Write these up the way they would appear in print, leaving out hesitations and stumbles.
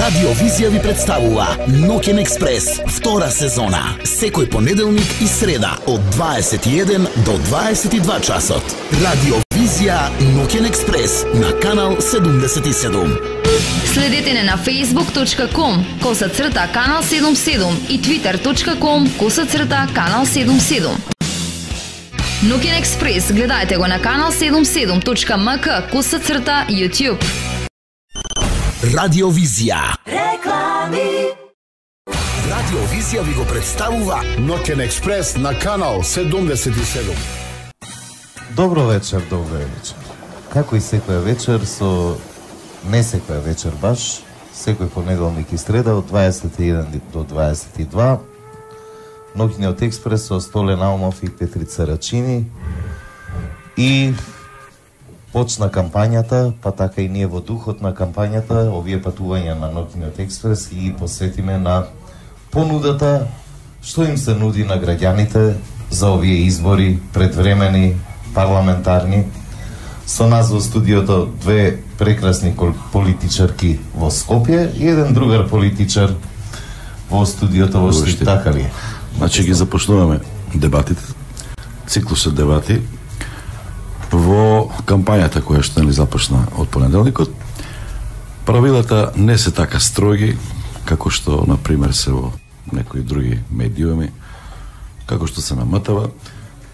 Радио Визија ви представува Ноќен експрес, втора сезона. Секој понеделник и среда од 21 до 22 часот. Радио Визија Ноќен експрес на канал 77. Следете не на facebook.com/канал 77 и twitter.com/канал 77. Ноќен експрес гледајте го на канал 77.mk/YouTube. Радио Визија. Реклами. Радио Визија ви го представува Ноќен експрес на канал 77. Добро вечер. Како и секоја вечер не секоја вечер баш, секој понеделник и среда од 21 до 22, Ноќниот експрес со Столе Наумов и Петрица Рачини. И почна кампањата, па така и ние во духот на кампањата, овие патувања на Ноќниот експрес и посветиме на понудата што им се нуди на граѓаните за овие избори предвремени, парламентарни. Со нас во студиото две прекрасни политичарки во Скопје и еден другар политичар во студиото во Штип, така ли? Значи ги започнуваме дебатите, циклусот дебати во кампањата која што не започна од понеделникот. Правилата не се така строги како што на пример се во некои други медиуми, како што се намотава.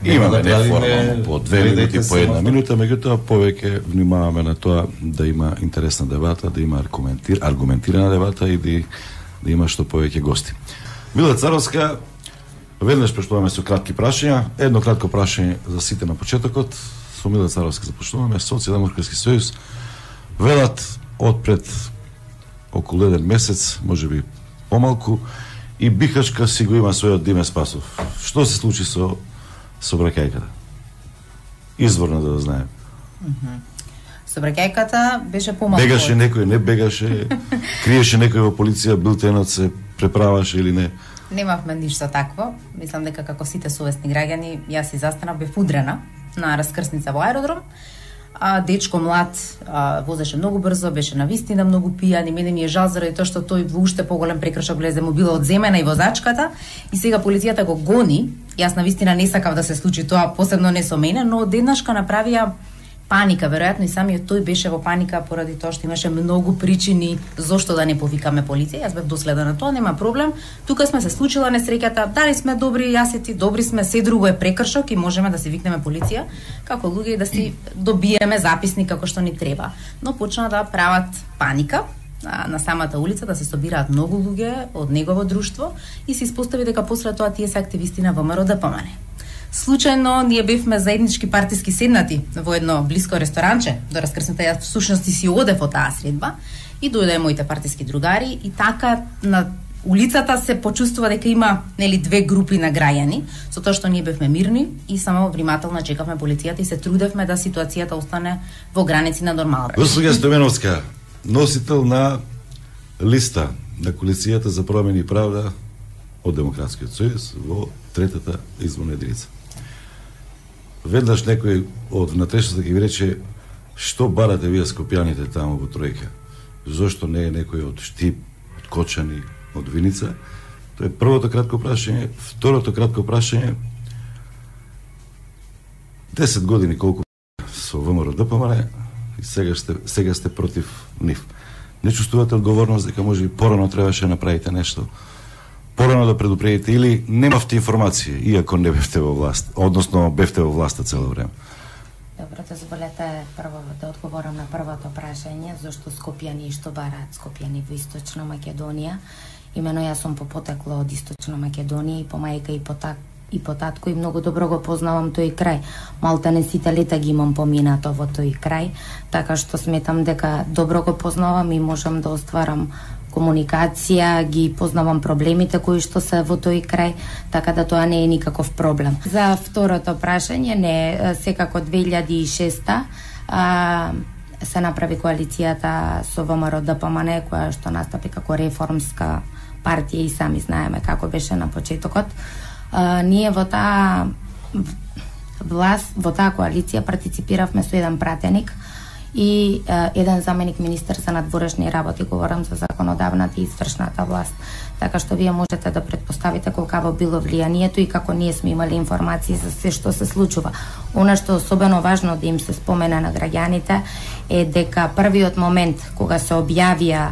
Имаме неформално по 2 минути, по 1 минута, меѓутоа повеќе внимаваме на тоа да има интересна дебата, да има аргументирана дебата и да има што повеќе гости. Мила Царовска, веднаш почнуваме со кратки прашања. Едно кратко прашање за сите на почетокот. Со Мила Царовска започнуваме. Социјалдемократски сојуз велат одпред околу 1 месец, можеби помалку, и Бихачка си го има својот Диме Спасов. Што се случи со сообраќајката? Изворно да знаем. Сообраќајката беше помалку. Бегаше некој, не бегаше, криеше некој во полиција, билтенот се преправаше или не? Немавме ништо такво. Мислам дека како сите совесни граѓани, јас и застанав, бев удрена на раскрсница во аеродром. Дечко млад возеше многу брзо, беше навистина многу пијан и мене ми е жал заради тоа што тој во уште поголем прекршок влезе, му била одземена и возачката и сега полицијата го гони. Јас навистина не сакав да се случи тоа, посебно не со мене, но одеднашка направија паника, веројатно и самиот тој беше во паника поради тоа што имаше многу причини зошто да не повикаме полиција. Јас бев доследна на тоа, нема проблем. Тука сме се случила несреќата, дали сме добри, јас и ти добри сме, се друго е прекршок и можеме да се викнеме полиција како луѓе и да си добиеме записник како што ни треба. Но почна да прават паника на самата улица, да се собираат многу луѓе од негово друштво и се испостави дека после тоа тие се активисти на ВМРО ДПМН. Случајно ние бевме заеднички партиски седнати во едно блиско ресторанче до раскрсната. Јас всушност си одев во таа средба и дојде моите партиски другари и така на улицата се почувствува дека има две групи на граѓани, со тоа што ние бевме мирни и само внимателно чекавме полицијата и се трудевме да ситуацијата остане во граници на нормална. Госпоѓа Стојменовска, носител на листа на коалицијата за промени и правда од Демократскиот сојуз во третата изборна единица. Веднаш некој од внатрешноста ќе ви рече што барате вие скопјаните таму во Тројка? Зошто не е некој од Штип, од Кочани, од Виница? Тоа е првото кратко прашање. Второто кратко прашање: 10 години колку со ВМРО ДПМН и сега сте против нив. Не чувствувате одговорност дека може и порано требаше да направите нешто? Порано да предупредите или немавте информација, иако не бевте во власт, односно бевте во власта цело време? Добро, дозволете прво да одговорам на првото прашање, зашто скопјани и што бараат скопјани во Источна Македонија. Имено јас сум по потекло од Источна Македонија и по мајка и по татко и многу добро го познавам тој крај. Малтане сите лета ги имам поминато во тој крај, така што сметам дека добро го познавам и можам да остварам комуникација, ги познавам проблемите кои што се во тој крај, така да тоа не е никаков проблем. За второто прашање, не, секако 2006 се направи коалицијата со ВМРО ДПМН, која што настапи како реформска партија и сами знаеме како беше на почетокот. Ние во таа власт, во таа коалиција партиципиравме со еден пратеник и еден заменик министер за надворешни работи, говорам за законодавната и извршната власт. Така што вие можете да претпоставите колкаво било влијанието и како ние сме имали информации за се што се случува. Она што е особено важно да им се спомена на граѓаните е дека првиот момент кога се објавија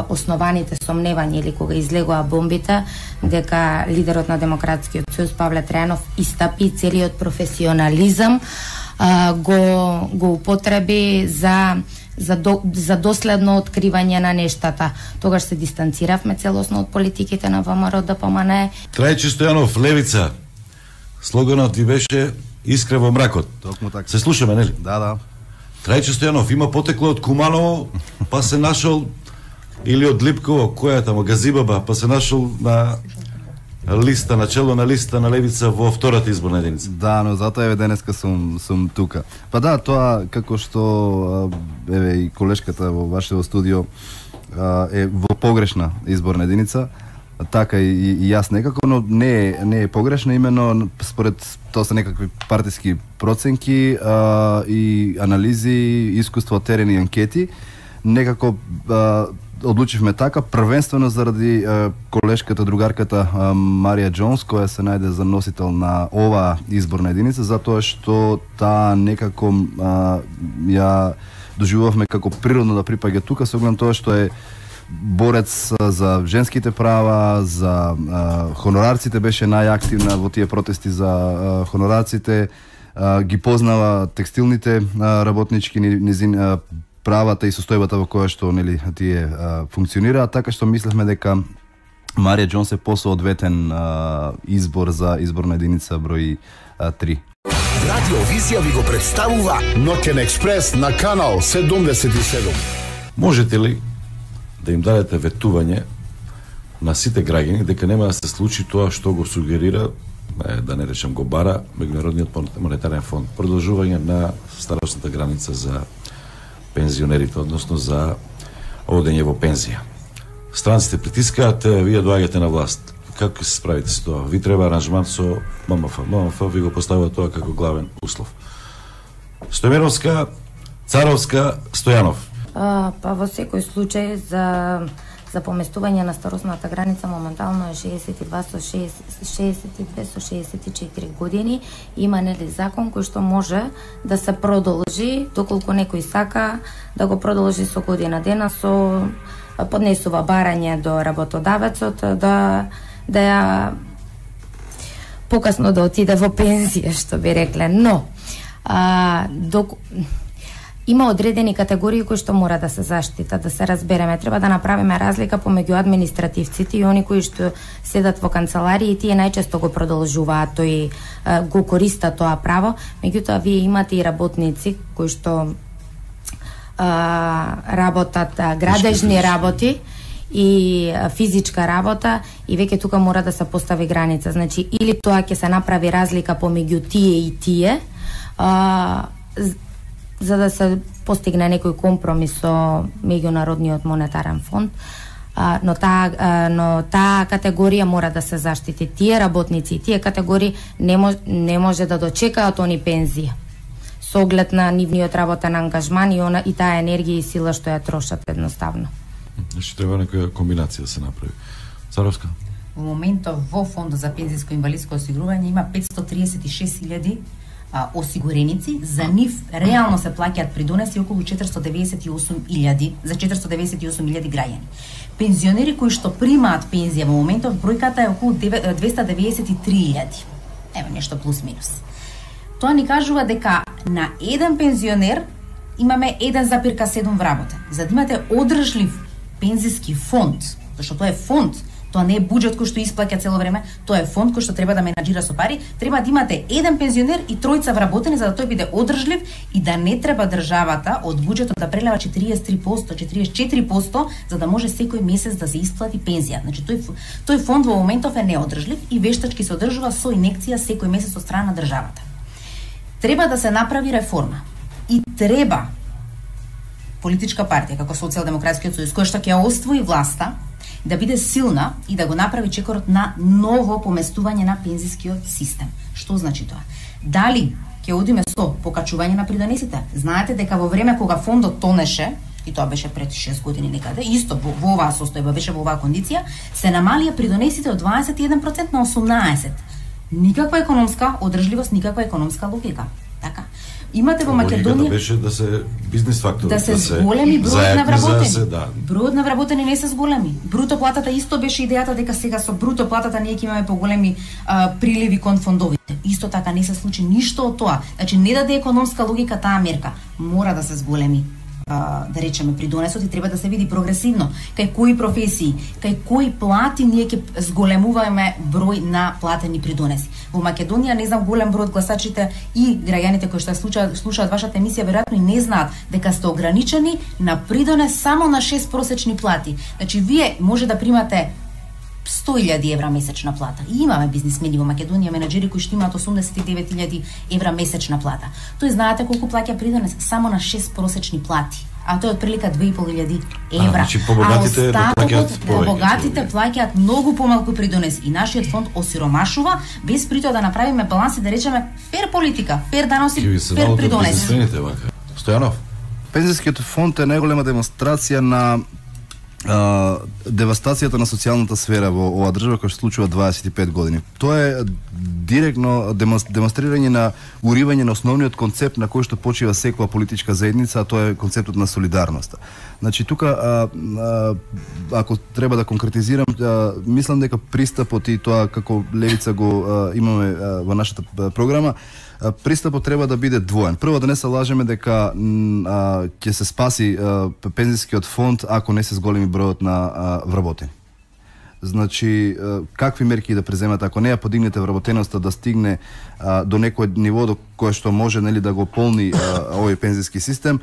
основаните сомневања или кога излегоа бомбите, дека лидерот на Демократскиот сојуз Павле Трајанов истапи целиот професионализам го употреби за доследно откривање на нештата. Тогаш се дистанциравме целосно од политиките на ВМРО ДПМН. Трајче Стојанов, Левица. Слоганот ви беше Искра во мракот. Токму така. Се слушаме, нели? Да. Трајче Стојанов има потекло од Куманово, па се нашол или од Липково, која тамо Газибаба, па се нашол на листа, начело на листа на Левица во втората изборна единица. Да, но затоа еве денеска сум тука. Па да, тоа како што еве и колешката во вашето студио е во погрешна изборна единица, така и јас некако, но не е погрешна, именно според тоа се некакви партиски проценки и анализи, искуство, терен и анкети, некако одлучивме така, првенствено заради колешката, другарката Марија Џонс, која се најде за носител на оваа изборна единица, затоа што таа некако ја доживувавме како природно да припаѓа тука, со оглед тоа што е борец за женските права, за хонорарците, беше најактивна во тие протести за хонорарците, ги познава текстилните работнички низин правата и состојбата во која што нели тие функционираат, така што мислевме дека Марија Џонс е посоодветен избор за изборна единица број 3. Радио Визија ви го представува Ноќен експрес на канал 77. Можете ли да им дадете ветување на сите граѓани дека нема да се случи тоа што го сугерира, да не речем го бара, Меѓународниот монетарен фонд, продолжување на старосната граница за пензионерите, односно за одење во пензија. Странците притискаат, вие доаѓате на власт. Како се справите со тоа? Ви треба аранжман со ММФ. ММФ ви го поставува тоа како главен услов. Стојмеровска, Царовска, Стојанов. Па во секој случај за поместување на старосната граница моментално е 62 со 64 години. Има нели закон кој што може да се продолжи доколку некој сака да го продолжи со година дена, со поднесува барање до работодавецот да ја покасно да отиде во пензија, што би рекле. Но има одредени категории кои што мора да се заштитат, да се разбереме. Треба да направиме разлика помеѓу административците и они кои што седат во канцеларии и тие најчесто го продолжуваат тој го користат тоа право. Меѓутоа вие имате и работници кои што работат градежни работи и физичка работа и веќе тука мора да се постави граница. Значи или тоа ќе се направи разлика помеѓу тие и тие, за да се постигне некој компромис со Меѓународниот монетарен фонд, но таа категорија мора да се заштити. Тие работници и тие категории не може да дочекаат они пензија со оглед на нивниот работен ангажман и таа енергија и сила што ја трошат едноставно. Значи треба некоја комбинација да се направи. Царовска? Во моментот во Фондот за пензиско и инвалидско осигурување има 536.000 осигуреници, за нив реално се плаќаат придонеси околу 498.000 за 498.000 граѓани. Пензионери кои што примаат пензија во моментов бројката е околу 293.000. Ево нешто плюс минус. Тоа ни кажува дека на еден пензионер имаме 1,7 вработен. За да имате одржлив пензиски фонд, зашто тоа е фонд, тоа не е буџет кој што исплаќа цело време, тоа е фонд кој што треба да менаџира со пари, треба да имате еден пензионер и тројца вработени за да тој биде одржлив и да не треба државата од буџетот да прелева 43%, 44% за да може секој месец да се исплати пензија. Значи тој фонд во моментов е неодржлив и вештачки се одржува со инекција секој месец од страна на државата. Треба да се направи реформа и треба политичка партија како Социјалдемократскиот сојуз која што ќе освои власта да биде силна и да го направи чекорот на ново поместување на пензискиот систем. Што значи тоа? Дали ќе одиме со покачување на придонесите. Знаете дека во време кога фондот тонеше, и тоа беше пред 6 години некаде, исто во оваа состојба, беше во оваа кондиција, се намалија придонесите од 21% на 18%. Никаква економска одржливост, никаква економска логика. Така. Имате во Македонија беше да се бизнис фактор, да се зголеми бројот на вработени. Да. Бројот на вработени не се зголеми. Бруто платата исто беше идејата дека сега со бруто платата ние ќе имаме поголеми приливи кон фондовите. Исто така не се случи ништо од тоа. Значи не даде економска логика таа мерка. Мора да се зголеми да речеме придонесот и треба да се види прогресивно кај кои професии, кај кои плати ние ќе зголемуваме број на платени придонеси. Во Македонија не знам голем број од гласачите и граѓаните кои што слушаат вашата емисија веројатно и не знаат дека сте ограничени на придонес само на 6 просечни плати. Значи вие може да примате 100.000 евра месечна плата. И имаме бизнисмени во Македонија, менаџери кои што имаат 89.000 евра месечна плата. Тој знаете колку плаќа придонес само на 6 просечни плати. А тоа е отприлика 2.500 евра. Значи побогатите побогатите плаќаат многу помалку придонес и нашиот фонд осиромашува без при тоа да направиме баланс и да речеме фер политика, фер даноси, фер придонес. Стојанов, Пензијскиот фонд е најголема демонстрација на девастацијата на социјалната сфера во оваа држава која се случува 25 години. Тоа е директно демонстрирање на уривање на основниот концепт на кој што почива секоја политичка заедница, а тоа е концептот на солидарноста. Значи тука ако треба да конкретизирам, мислам дека пристапот и тоа како левица го имаме во нашата програма, пристапот треба да биде двоен. Прво да не се лажеме дека ќе се спаси пензијскиот фонд ако не се зголеми бројот на вработени. Значи, какви мерки да преземат, ако не ја подигнете вработеноста да стигне до некој ниво до кое што може нели да го полни овој пензијски систем,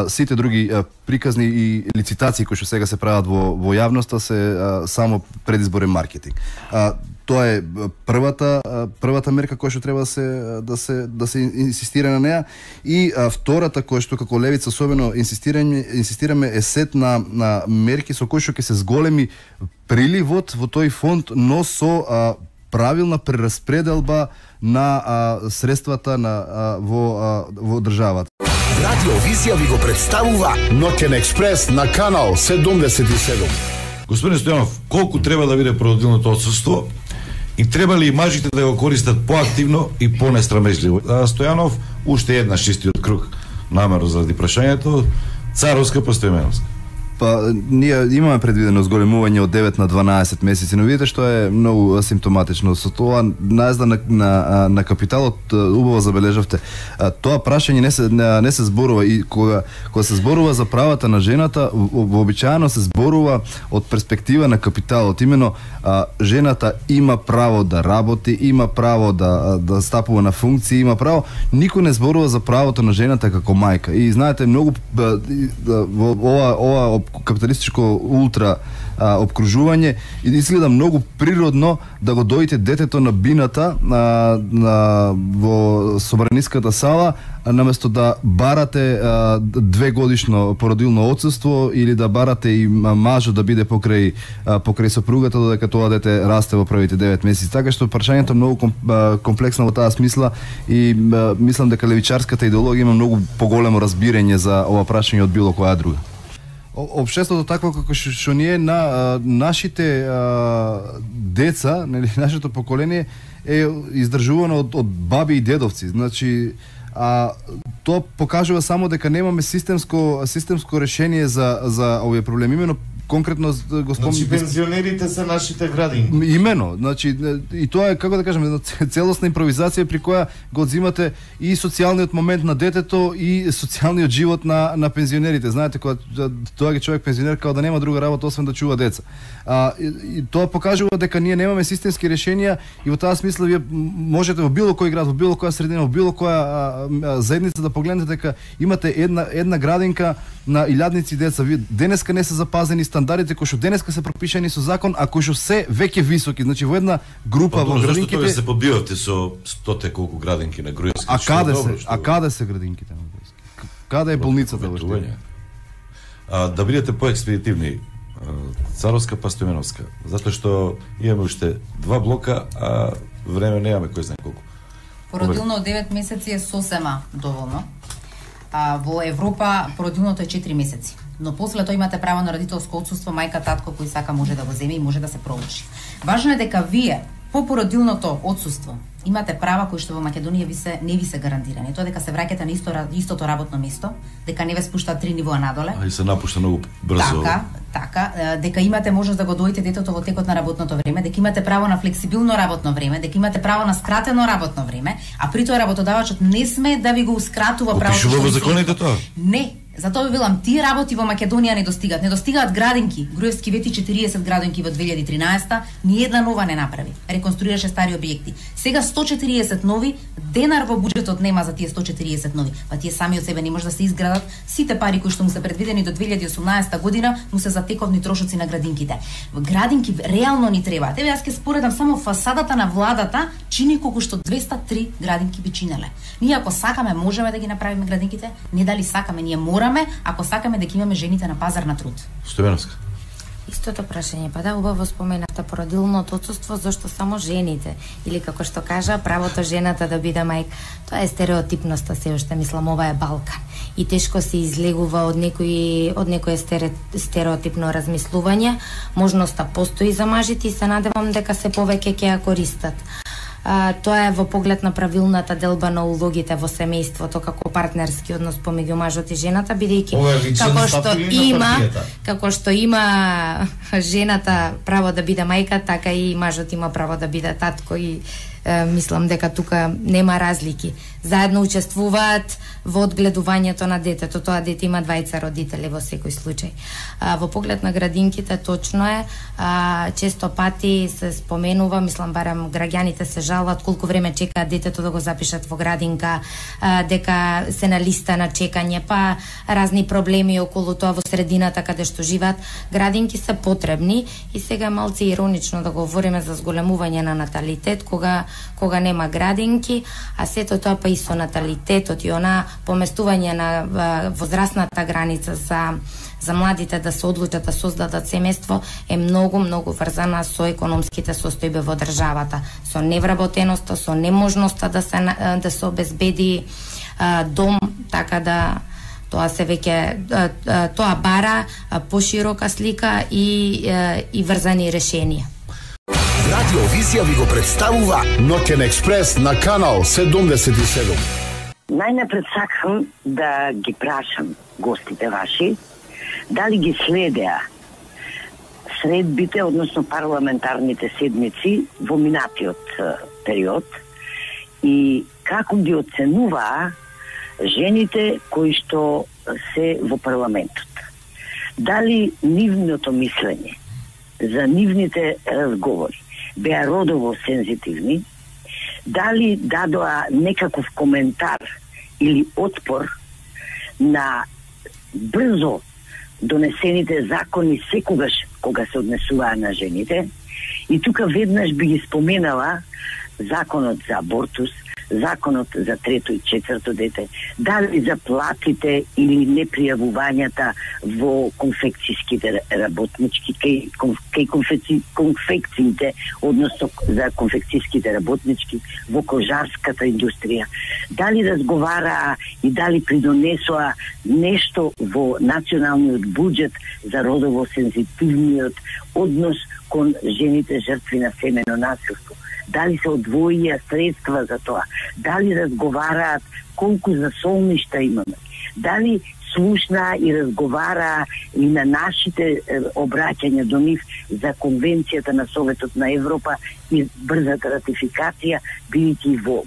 сите други приказни и лицитации кои што сега се прават во јавноста се само предизборен маркетинг. Тоа е првата мерка која што треба да се инсистира на неа, и втората која што како левица особено инсистираме е сет на мерки со кои што ќе се зголеми приливот во тој фонд, но со правилна прераспределба на средствата во државата. Радио Визија ви го представува Ноќен експрес на канал 77. Господин Стојанов, колку треба да биде продолжилното отсуство и треба ли и мажите да го користат поактивно и понестрамежливо? Стојанов, уште една шестиот круг намерно заради прашањето, царовска па стојменовска. Па, ние имаме предвидено зголемување од 9 на 12 месеци, но видите што е многу симптоматично. Со тоа наезда на капиталот, убаво забележавте, тоа прашање не се зборува, и кога се зборува за правата на жената, вообичаено се зборува од перспектива на капиталот. Имено жената има право да работи, има право да стапува на функции, има право. Никој не зборува за правото на жената како мајка. И знаете, многу ова капиталистичко ултра обкружување и изгледа многу природно да го доите детето на бината во собраниската сала, наместо да барате 2 годишно породилно отсуство или да барате и мажот да биде покрај сопругата додека тоа дете расте во првите 9 месеци. Така што прашањето е многу комплексно во таа смисла и мислам дека левичарската идеологија има многу поголемо разбирање за ова прашање од било која друга. Општеството такво како што ние на нашите деца, нели, нашето поколение е издржувано од баби и дедовци. Значи, тоа покажува само дека немаме системско решение за овие проблеми. Имено конкретно го спомнам. Значи пензионерите се нашите градинки. Имено, значи и тоа е, како да кажеме, целосна импровизација при која го одзимате и социјалниот момент на детето и социјалниот живот на пензионерите. Знаете, кога тоа е човек пензионер као да нема друга работа освен да чува деца. И тоа покажува дека ние немаме системски решенија и во таа смисла вие можете во било кој град, во било која средина, во било која заедница да погледнете дека имате една градинка на илјадници деца. Вие денеска не се запазени стандардите кои што денеска се пропишани со закон, а кои што се веќе високи. Значи во една група во градинките. Зашто се подбивате со 100 колку градинки на Груевски? А каде се градинките на Груевски? Каде е болницата во Штип? Да бидете поекспедитивни, Царовска па Стојменовска, затоа што имаме уште 2 блока, а време немаме кој знае колку. Породилно од 9 месеци е сосема доволно. Во Европа породилното е 4 месеци. Но после тоа имате право на родителско отсуство, мајка, татко кој сака може да го земе и може да се проучи. Важно е дека вие по породилното отсуство имате права кои што во Македонија не ви се гарантирани. Тоа дека се враќате на истото работно место, дека не ве спуштаат 3 нивоа надоле. И се напушта многу брзо. Така, дека имате можност да го дојдете детето во текот на работното време, дека имате право на флексибилно работно време, дека имате право на скратено работно време, а при тоа работодавачот не сме да ви го ускратува правото. Пишува во законите тоа? Не. Затоа ви велам, тие работи во Македонија не достигаат. Не достигаат градинки. Груевски вети 40 градинки во 2013-та, ни една нова не направи. Реконструираше стари објекти. Сега 140 нови, денар во буџетот нема за тие 140 нови. Па тие сами од себе не може да се изградат. Сите пари кои што му се предвидени до 2018 година му се за тековни трошоци на градинките. Градинки реално ни требаат. Еве јас ќе споредам само фасадата на владата чини колку што 203 градинки би чинеле. Ние ако сакаме можеме да ги направиме градинките, не дали сакаме, ние мораме, ако сакаме да ги имаме жените на пазар на труд. Стојановска. Истото прашање, па да, убаво споменавте породилното отсуство, зашто само жените, или како што кажа, правото жената да биде мајка. Тоа е стереотипноста, се уште мислам, ова е Балкан. И тешко се излегува од некој стереотипно размислување. Можноста постои за мажите и се надевам дека се повеќе ќе ја користат. Тоа е во поглед на правилната делба на улогите во семејството како партнерски однос помеѓу мажот и жената, бидејќи како што има жената право да биде мајка, така и мажот има право да биде татко и мислам дека тука нема разлики. Заедно учествуваат во одгледувањето на детето. Тоа дете има двајца родители во секој случај. Во поглед на градинките точно е, често пати се споменува, мислам барем граѓаните се жалат колку време чекаат детето да го запишат во градинка, дека се на листа на чекање, па разни проблеми околу тоа во средината каде што живеат. Градинки се потребни и сега малце иронично да говориме за зголемување на наталитет кога нема градинки, а сето тоа па и со наталитетот и она поместување на возрастната граница за младите да се одлучат да создадат семејство е многу врзана со економските состојби во државата, со невработеноста, со неможноста да се обезбеди дом, така да тоа се веќе тоа бара поширока слика и врзани решенија. Радио Визија ви го представува Ноќен експрес на канал 77. Најнапред сакам да ги прашам гостите ваши дали ги следеа средбите, односно парламентарните седмици во минатиот период и како ги оценуваа жените кои што се во парламентот. Дали нивното мислење за нивните разговори беа родово сензитивни, дали дадоа некаков коментар или отпор на брзо донесените закони секогаш кога се однесуваа на жените. И тука веднаш би ги споменала законот за абортус, законот за трето и четврто дете, дали за платите или непријавувањата во конфекцијските работнички, кај конфекциите, односно за конфекцијските работнички во кожарската индустрија. Дали разговараа и дали придонесоа нешто во националниот буџет за родово сензитивниот однос кон жените жртви на семено насилство. Дали се одвоија средства за тоа, дали разговараат колку за солништа имаме, дали слушнаа и разговараа и на нашите обраќања до нив за Конвенцијата на Советот на Европа и брзата ратификација, бидејќи во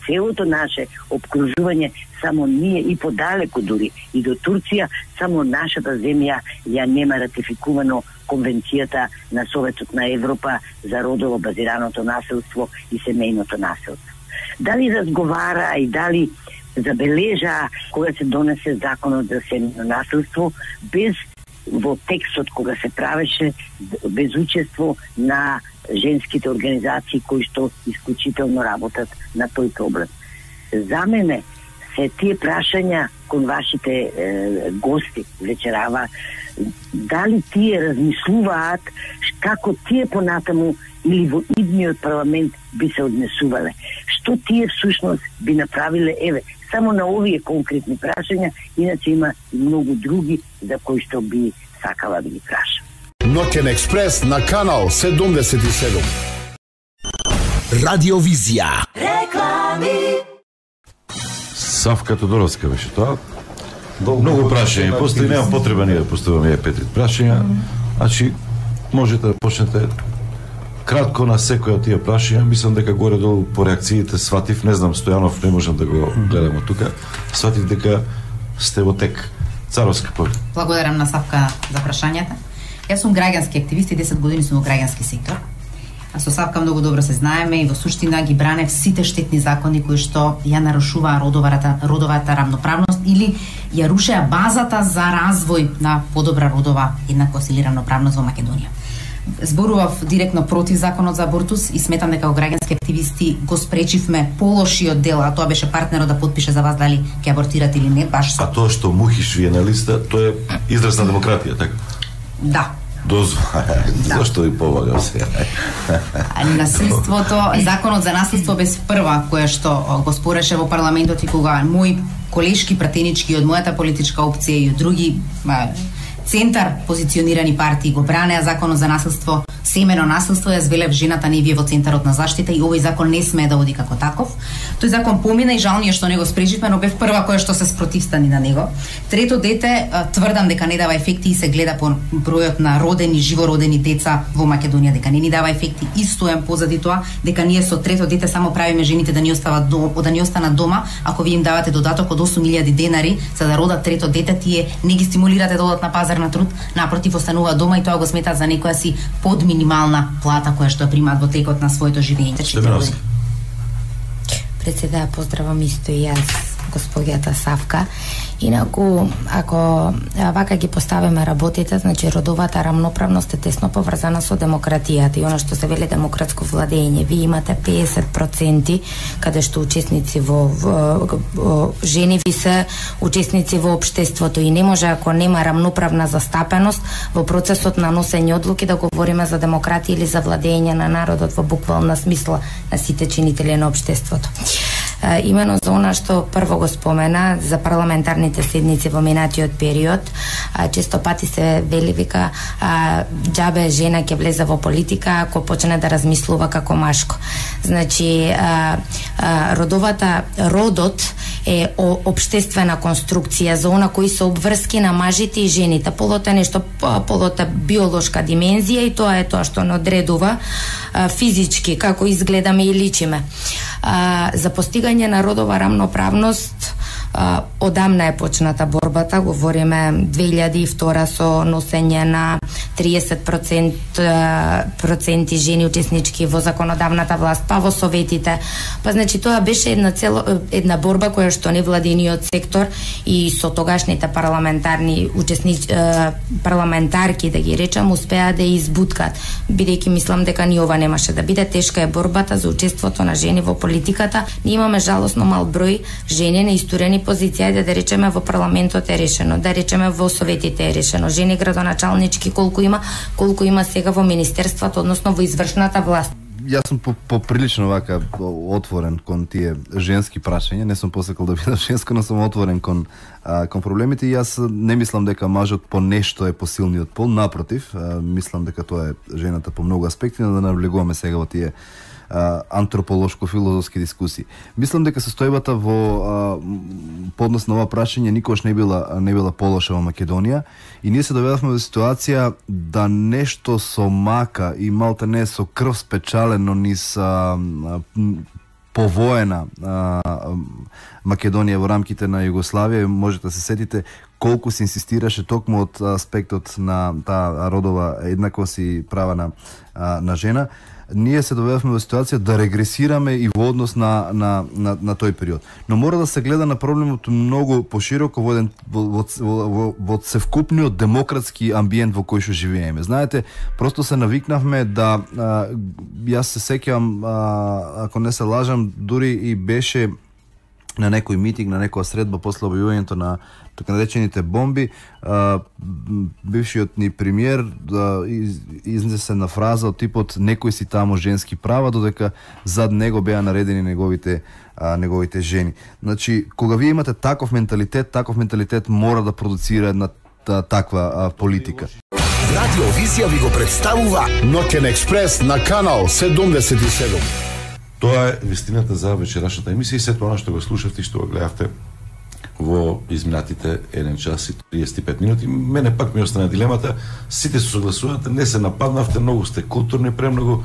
целото наше обкружување само ние и подалеку дури и до Турција, само нашата земја ја нема ратификувано Конвенцијата на Советот на Европа за родово базираното насилство и семејното насилство. Дали разговараа и дали забележаа кога се донесе законот за семејно насилство без во текстот кога се правеше без учество на женските организации кои што исклучително работат на тој проблем. За мене се тие прашања кон вашите гости вечерава, дали тие размислуваат како тие понатаму или во идниот парламент би се однесувале? Што тие всушност би направиле? Еве, само на овие конкретни прашања, иначе има и многу други за кои што би сакала да ги прашам. Ноќен експрес на канал 77. Радиовизија. Савка Тодоровска беше тоа. Многу прашања постои, нема потреба ние да поставаме 5 прашања. Значи можете да почнете кратко на секој од тие прашања. Мислам дека горе-долу по реакциите сватив, не знам Стојанов, не можам да го гледам од тука. Сватив дека сте во тек. Царовска поле. Благодарам на Савка за прашањата. Јас сум граѓански активист и 10 години сум во граѓански сектор. А со Савка многу добро се знаеме и во суштина ги бране сите штетни закони кои што ја нарушуваа родовата рамноправност или ја рушеа базата за развој на подобра родова еднаквост или рамноправност во Македонија. Зборував директно против законот за абортус и сметам дека во граѓански активисти го спречивме полошиот дел, а тоа беше партнерот да потпише за вас дали ќе абортирате или не, баш со... А тоа што мухиш вие на листа, тоа е израз на демократија, така? Да. Зашто ви помагам сега? Насилството, законот за насилство без прва, која што го спореше во парламентот и кога мои колешки пратенички од мојата политичка опција и од други центар позиционирани партии го бранеа законот за насилство, семено насилство, јас велев жената не вие во центарот на заштита и овој закон не смее да оди како таков. Тој закон помина и жал ни е што не го спречивме, но бев прва која што се спротивстани на него. Трето дете, тврдам дека не дава ефекти и се гледа по бројот на родени, живородени деца во Македонија, дека не ни дава ефекти и стојам позади тоа, дека ние со трето дете само правиме жените да ни останат дома, ако ви им давате додаток од 8.000 денари за да родат трето дете, тие не ги стимулирате да одат на пазар на труд, напротив остануваат дома и тоа го сметаат за некоја си под минимална плата која што ја примаат во текот на своето живење. Председа, поздравам исто и јас господјата Савка. Инаку, ако вака ги поставиме работите, значи родовата рамноправност е тесно поврзана со демократијата и она што се вели демократско владење. Ви имате 50% каде што учесници жени ви се учесници во општеството и не може ако нема рамноправна застапеност во процесот на носење одлуки да говориме за демократија или за владење на народот во буквална смисла на сите чинители на општеството. Имено за она што прво го спомена за парламентарните седници во минатиот период, често пати се вели вика џабе жена ќе влезе во политика ако почне да размислува како машко. Значи родот е општествена конструкција за она кои се обврски на мажите и жените. Полот е нешто, полот е биолошка димензија и тоа е тоа што не одредува физички како изгледаме и личиме. За постигање на родова рамноправност одамна е почната борбата, говориме 2002 со носење на 30% жени учеснички во законодавната власт, па во советите. Па значи тоа беше една борба која што невладиниот сектор и со тогашните парламентарки, да ги речам, успеа да избуткат, бидејќи мислам дека ни ова немаше да биде. Тешка е борбата за учеството на жени во политиката. Ние имаме жалосно мал број жени на исторени позиција, да речеме во парламентот е решено, да речеме во советите е решено. Жени градоначалнички колку има сега во министерството, односно во извршната власт. Јас сум поприлично вака отворен кон тие женски прашања, не сум посекал да бидам женско, но сум отворен кон проблемите и јас не мислам дека мажот по нешто е посилниот пол, напротив, мислам дека тоа е жената по многу аспекти, но да навлегуваме сега во тие антрополошко-филозофски дискусии. Мислам дека состојбата во поднос на ова прашање никош не била полоша во Македонија и ние се доведовме во ситуација да нешто со мака и малта не со крв спечалено низ повоена Македонија во рамките на Југославија. Можете да се сетите колку се инсистираше токму од аспектот на таа родова еднаквост и права на жена. Ние се доведовме во ситуација да регресираме и во однос на тој период. Но мора да се гледа на проблемот многу пошироко во севкупниот демократски амбиент во кој што живееме. Знаете, просто се навикнавме да јас се сеќавам, ако не се лажам, дури и беше на некој митинг, на некоја средба после објавувањето на така наречените бомби, бившиот ни премиер изнесе на фраза од типот некој си таму женски права, додека зад него беа наредени неговите жени. Значи, кога вие имате таков менталитет мора да продуцира една таква политика. Радио Визија ви го представува Ноќен експрес на канал 77. Тоа е вистината за вечерашната емисија и сето она што го слушавте и што го гледавте во изминатите 1 час и 35 минути. Мене пак ми остана дилемата, сите се согласувате, не се нападнавте, многу сте културни, премногу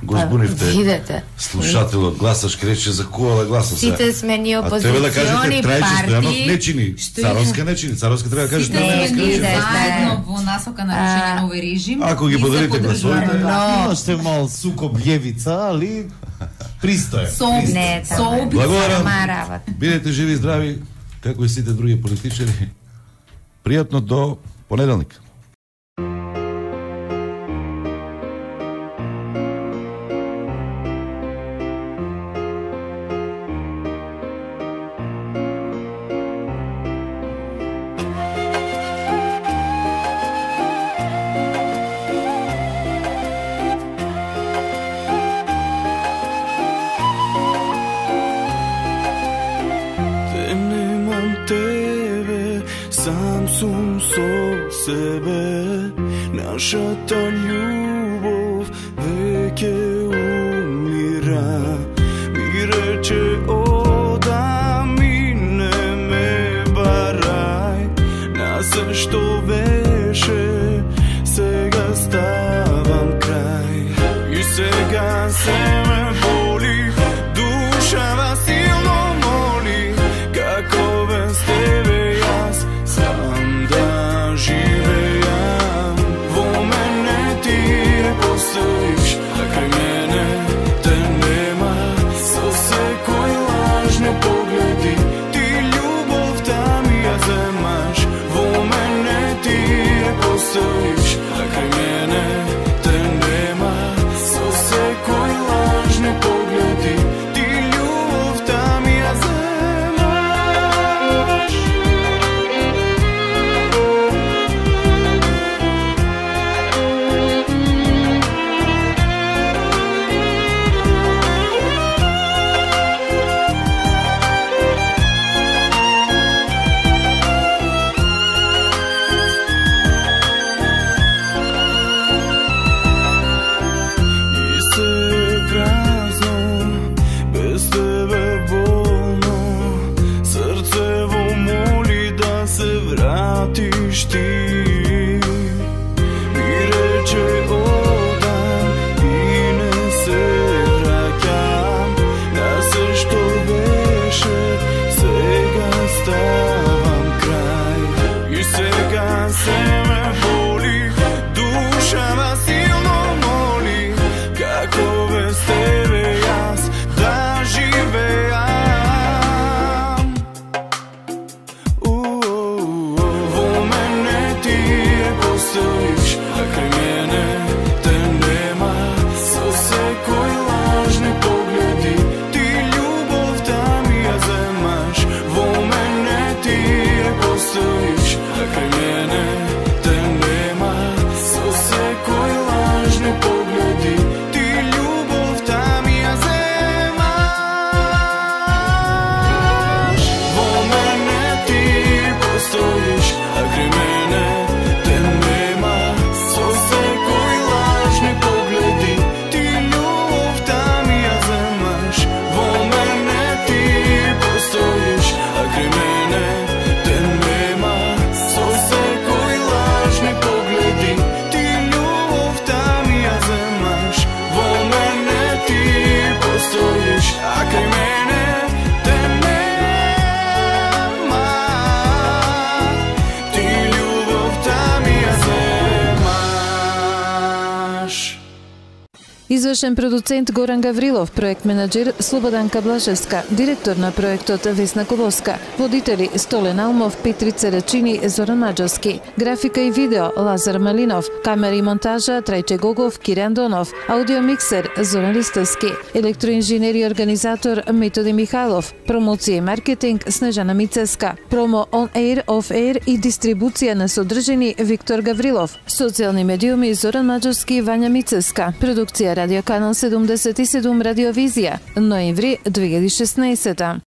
го збунивте слушателот, гласаш крече за кога да гласам сега. Сите сме ни опозициони партии. А треба да кажете Трајче Стојанов не чини, Царовска треба да кажете не чини. Заедно во насока на рушење на овој режим. Ако ги поделите гласовите, имаше мал сукоб левица, али пристоен. Благодарам. Бидете живи и здрави, како и сите други политичари. Пријатно до понеделник. Нашата љубов веќе умира. Ми рече ода мине ме барај. Нас што беше, сега ставам крај. И сега се ме боли, душава силно моли. Како без тебе јас сам да живеам. Постоиш, а крај мене те нема, со секој Извршен продуцент Горан Гаврилов, проект менаџер Слободанка Блашевска, директор на проектот Весна Колоска, водители Столен Алмов, Петрица Рачини, Зоран Маџовски, графика и видео Лазар Малинов, камера и монтажа Трајче Гогов, Кирјан Донов, аудиомиксер Зоран Ристовски, електроинженер и организатор Методи Михайлов, промоција и маркетинг Снежана Мицеска, промо on air, off air и дистрибуција на содржини Виктор Гаврилов, социјални медиуми Зоран Маџовски и Вања Мицеска, продукција Радио Канал 77 Радиовизија, ноември 2016.